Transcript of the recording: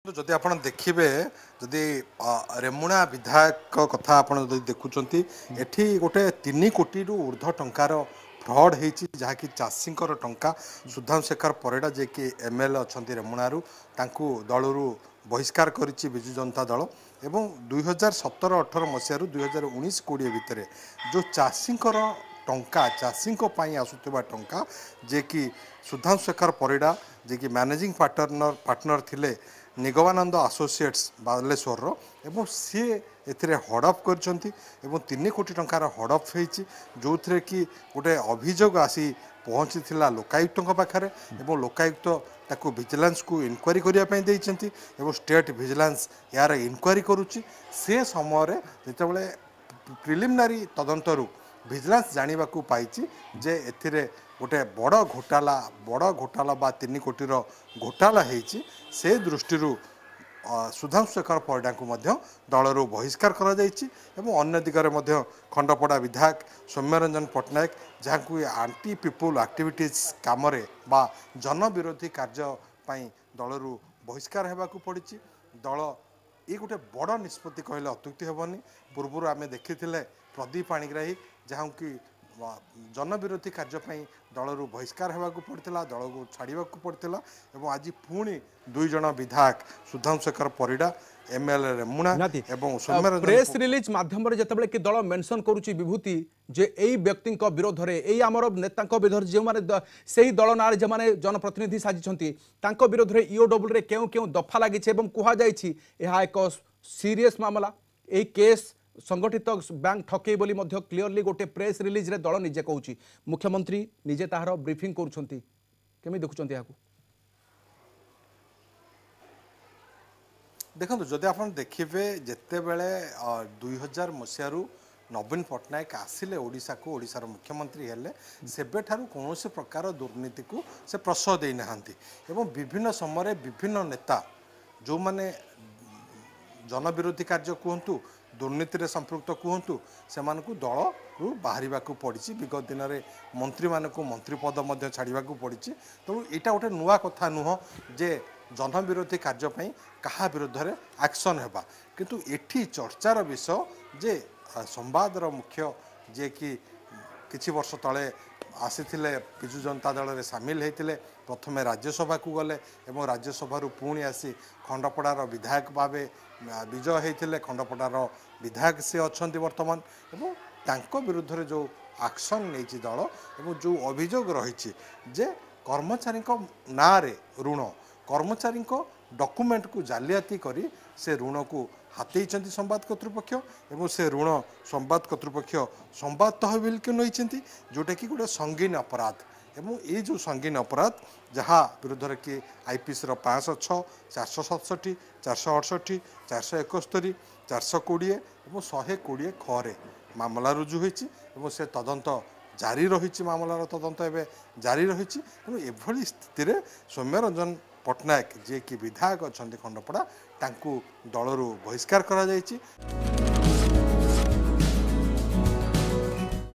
ଯଦି ଆପଣ ଦେଖିବେ, ଯଦି ରେମୁଣା ବିଧାୟକ କଥା ଆପଣ ଯଦି ଦେଖୁଛନ୍ତି, ଏଠି ଗୋଟେ 3 କୋଟିରୁ ଉର୍ଦ୍ଧ୍ୱ ଟଙ୍କାର ଫ୍ରଡ୍ ହେଇଛି, ଯାହାକି ଚାଷୀଙ୍କର ଟଙ୍କା। ସୁଧାଂଶୁ ଶେଖର ପରିଡ଼ା, ଯିଏକି ଏମ୍ ଏଲ୍ ଏ ଅଛନ୍ତି ରେମୁଣାରୁ, ତାଙ୍କୁ ଦଳରୁ ବହିଷ୍କାର କରିଛି ବିଜୁ ଜନତା ଦଳ। ଏବଂ 2017-18 ମସିହାରୁ 2019-20 ଭିତରେ ଯେଉଁ ଚାଷୀଙ୍କର ଟଙ୍କା, ଚାଷୀଙ୍କ ପାଇଁ ଆସୁଥିବା ଟଙ୍କା, ଯିଏକି ସୁଧାଂଶୁ ଶେଖର ପରିଡ଼ା, ଯିଏକି ମ୍ୟାନେଜିଂ ପାର୍ଟନର ଥିଲେ ନିଗମାନନ୍ଦ ଆସୋସିଏଟ୍ସ ବାଲେଶ୍ୱରର, ଏବଂ ସିଏ ଏଥିରେ ହଡ଼ପ କରିଛନ୍ତି ଏବଂ 3 କୋଟି ଟଙ୍କାର ହଡ଼ପ ହେଇଛି, ଯେଉଁଥିରେ କି ଗୋଟେ ଅଭିଯୋଗ ଆସି ପହଞ୍ଚିଥିଲା ଲୋକାୟୁକ୍ତଙ୍କ ପାଖରେ ଏବଂ ଲୋକାୟୁକ୍ତ ତାକୁ ଭିଜିଲାନ୍ସକୁ ଇନକ୍ୱାରି କରିବା ପାଇଁ ଦେଇଛନ୍ତି ଏବଂ ଷ୍ଟେଟ୍ ଭିଜିଲାନ୍ସ ଏହାର ଇନକ୍ୱାରି କରୁଛି। ସେ ସମୟରେ ଯେତେବେଳେ ପ୍ରିଲିମିନାରୀ ତଦନ୍ତରୁ ଭିଜିଲାନ୍ସ ଜାଣିବାକୁ ପାଇଛି ଯେ ଏଥିରେ ଗୋଟେ ବଡ଼ ଘୋଟାଲା, ବଡ଼ ଘୋଟାଲା ବା 3 କୋଟିର ଘୋଟାଲା ହେଇଛି, ସେ ଦୃଷ୍ଟିରୁ ସୁଧାଂଶୁ ଶେଖର ପରିଡ଼ାଙ୍କୁ ମଧ୍ୟ ଦଳରୁ ବହିଷ୍କାର କରାଯାଇଛି। ଏବଂ ଅନ୍ୟ ଦିଗରେ ମଧ୍ୟ ଖଣ୍ଡପଡ଼ା ବିଧାୟକ ସୌମ୍ୟରଞ୍ଜନ ପଟ୍ଟନାୟକ, ଯାହାଙ୍କୁ ଆଣ୍ଟି ପିପୁଲ ଆକ୍ଟିଭିଟିଜ୍ କାମରେ ବା ଜନବିରୋଧୀ କାର୍ଯ୍ୟ ପାଇଁ ଦଳରୁ ବହିଷ୍କାର ହେବାକୁ ପଡ଼ିଛି। ଦଳ ଏ ଗୋଟେ ବଡ଼ ନିଷ୍ପତ୍ତି କହିଲେ ଅତ୍ୟୁକ୍ତି ହେବନି। ପୂର୍ବରୁ ଆମେ ଦେଖିଥିଲେ ପ୍ରଦୀପ ପାଣିଗ୍ରାହୀ, ଯାହାଙ୍କୁ କି ଜନବିରୋଧୀ କାର୍ଯ୍ୟ ପାଇଁ ଦଳରୁ ବହିଷ୍କାର ହେବାକୁ ପଡ଼ିଥିଲା, ଦଳକୁ ଛାଡ଼ିବାକୁ ପଡ଼ିଥିଲା, ଏବଂ ଆଜି ପୁଣି 2 ଜଣ ବିଧାୟକ Sudhanshu Sekhar Parida M L A Remuna ଏବଂ ସୌମ୍ୟରଞ୍ଜନ। ପ୍ରେସ୍ ରିଲିଜ୍ ମାଧ୍ୟମରେ ଯେତେବେଳେ କି ଦଳ ମେନସନ୍ କରୁଛି ବିଭୂତି ଯେ ଏଇ ବ୍ୟକ୍ତିଙ୍କ ବିରୋଧରେ, ଏଇ ଆମର ନେତାଙ୍କ ବିରୋଧରେ, ଯେଉଁମାନେ ସେଇ ଦଳ ନାଁରେ ଯେଉଁମାନେ ଜନପ୍ରତିନିଧି ସାଜିଛନ୍ତି, ତାଙ୍କ ବିରୋଧରେ ଇଓଡବ୍ଲ୍ୟୁରେ କେଉଁ କେଉଁ ଦଫା ଲାଗିଛି ଏବଂ କୁହାଯାଇଛି ଏହା ଏକ ସିରିୟସ୍ ମାମଲା, ଏଇ କେସ୍ ସଂଗଠିତ ବ୍ୟାଙ୍କ ଠକେଇ ବୋଲି ମଧ୍ୟ କ୍ଲିୟରଲି ଗୋଟେ ପ୍ରେସ୍ ରିଲିଜ୍ରେ ଦଳ ନିଜେ କହୁଛି, ମୁଖ୍ୟମନ୍ତ୍ରୀ ନିଜେ ତାହାର ବ୍ରିଫିଂ କରୁଛନ୍ତି, କେମିତି ଦେଖୁଛନ୍ତି ଏହାକୁ? ଦେଖନ୍ତୁ, ଯଦି ଆପଣ ଦେଖିବେ, ଯେତେବେଳେ 2000 ମସିହାରୁ ନବୀନ ପଟ୍ଟନାୟକ ଆସିଲେ ଓଡ଼ିଶାକୁ, ଓଡ଼ିଶାର ମୁଖ୍ୟମନ୍ତ୍ରୀ ହେଲେ, ସେବେଠାରୁ କୌଣସି ପ୍ରକାର ଦୁର୍ନୀତିକୁ ସେ ପ୍ରଶ୍ରୟ ଦେଇନାହାନ୍ତି। ଏବଂ ବିଭିନ୍ନ ସମୟରେ ବିଭିନ୍ନ ନେତା ଯେଉଁମାନେ ଜନବିରୋଧୀ କାର୍ଯ୍ୟ କୁହନ୍ତୁ, ଦୁର୍ନୀତିରେ ସମ୍ପୃକ୍ତ କୁହନ୍ତୁ, ସେମାନଙ୍କୁ ଦଳରୁ ବାହାରିବାକୁ ପଡ଼ିଛି। ବିଗତ ଦିନରେ ମନ୍ତ୍ରୀମାନଙ୍କୁ ମନ୍ତ୍ରୀ ପଦ ମଧ୍ୟ ଛାଡ଼ିବାକୁ ପଡ଼ିଛି। ତେଣୁ ଏଇଟା ଗୋଟେ ନୂଆ କଥା ନୁହଁ ଯେ ଜନବିରୋଧୀ କାର୍ଯ୍ୟ ପାଇଁ କାହା ବିରୁଦ୍ଧରେ ଆକ୍ସନ୍ ହେବା। କିନ୍ତୁ ଏଠି ଚର୍ଚ୍ଚାର ବିଷୟ ଯେ ସମ୍ବାଦର ମୁଖ୍ୟ, ଯିଏକି କିଛି ବର୍ଷ ତଳେ ଆସିଥିଲେ, ବିଜୁ ଜନତା ଦଳରେ ସାମିଲ ହେଇଥିଲେ, ପ୍ରଥମେ ରାଜ୍ୟସଭାକୁ ଗଲେ ଏବଂ ରାଜ୍ୟସଭାରୁ ପୁଣି ଆସି ଖଣ୍ଡପଡ଼ାର ବିଧାୟକ ଭାବେ ବିଜୟ ହେଇଥିଲେ, ଖଣ୍ଡପଡ଼ାର ବିଧାୟକ ସେ ଅଛନ୍ତି ବର୍ତ୍ତମାନ, ଏବଂ ତାଙ୍କ ବିରୁଦ୍ଧରେ ଯେଉଁ ଆକ୍ସନ୍ ନେଇଛି ଦଳ ଏବଂ ଯେଉଁ ଅଭିଯୋଗ ରହିଛି ଯେ କର୍ମଚାରୀଙ୍କ ନାଁରେ ଋଣ, କର୍ମଚାରୀଙ୍କ ଡକୁମେଣ୍ଟକୁ ଜାଲିଆତି କରି ସେ ଋଣକୁ ହାତେଇଛନ୍ତି ସମ୍ବାଦ କର୍ତ୍ତୃପକ୍ଷ ଏବଂ ସେ ଋଣ ସମ୍ବାଦ କର୍ତ୍ତୃପକ୍ଷ ସମ୍ବାଦ ତହବିଲକୁ ନେଇଛନ୍ତି, ଯେଉଁଟାକି ଗୋଟେ ସଙ୍ଗୀନ ଅପରାଧ। ଏବଂ ଏଇ ଯେଉଁ ସଙ୍ଗୀନ ଅପରାଧ, ଯାହା ବିରୁଦ୍ଧରେ କି ଆଇପିସିର 506, 467, 468, 471, 420 ଏବଂ 120 ଖରେ ମାମଲା ରୁଜୁ ହୋଇଛି ଏବଂ ସେ ତଦନ୍ତ ଜାରି ରହିଛି, ମାମଲାର ତଦନ୍ତ ଏବେ ଜାରି ରହିଛି। ତେଣୁ ଏଭଳି ସ୍ଥିତିରେ ସୌମ୍ୟରଞ୍ଜନ ପଟ୍ଟନାୟକ, ଯିଏକି ବିଧାୟକ ଅଛନ୍ତି ଖଣ୍ଡପଡ଼ା, ତାଙ୍କୁ ଦଳରୁ ବହିଷ୍କାର କରାଯାଇଛି।